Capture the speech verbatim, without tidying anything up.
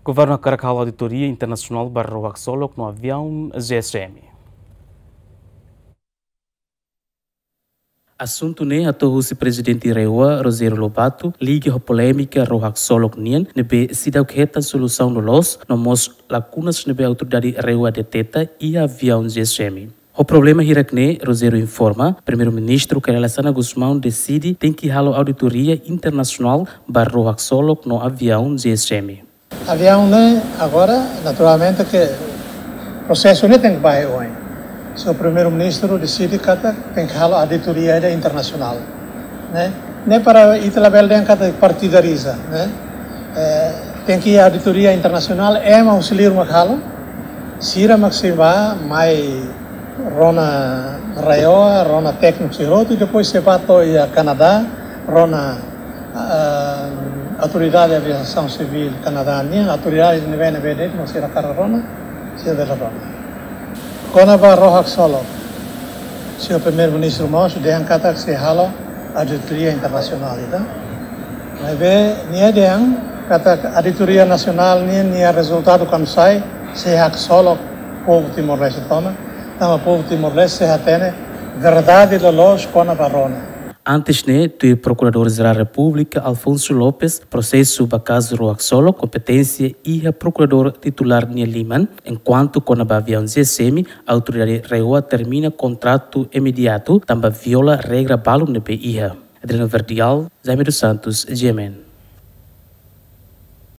Governu hakarak halo auditoria internasionál ba ró haksolok no aviaun G S M. Asuntu ne'e hato'o husi Prezidente RAEOA, Rogério Lobato, liga ho polémika ró haksolok nian ne'ebé seidauk hetan solusaun loloos, no mós lakunas ne'ebé autoridade RAEOA deteta iha aviaun G S M. Ho problema hirak ne'e, Rogério informa, Primeiru-Ministru Kay Rala Xanana Gusmão deside tenke halo auditoria internasionál ba ró haksolok no aviaun G S M. Aviaun ne'e agora, naturalmente ke prosesu ne'e tenke ba oin. Señór Primeiru-Ministru deside katak tenke halo auditoria ida internasionál, ne'e? Ne'e para ita labele dehan katak partidariza, ne'e? Eh, tenke auditoria internasionál, ema husi liur mak halo, sira mak sei bá mai rona RAEOA, rona tékniku sira hotu, i depois sei bá to'o iha Kanadá, rona, ah, Autoridade de Aviasaun Sivíl Kanadá nian, autoridade ne'ebé-ne'ebé de'it mak sira hakarak rona, sira bele rona. Kona-ba ró haksolok, señór Primeiru-Ministru mós dehan katak sei halo auditoria internasionál ida. Maibé nia dehan katak auditoria nasionál nian, nia rezultadu kuandu sai, sei haksolok povu Timor-Leste tomak, tanba povu Timor-Leste sei hatene verdade loloos kona-ba ró ne'e. Antes ne'e, tuir Prokuradór Jerál Repúblika Alfonso Lopes, prosesu ba kazu ró haksolok kompeténsia iha Prokuradór Titulár nia liman, enkuantu kona-ba aviaun G S M, autoridade RAEOA termina kontratu imediatu, tanba viola regra balu ne'ebé iha. Adriano Verdial, Jaime dos Santos, G M N.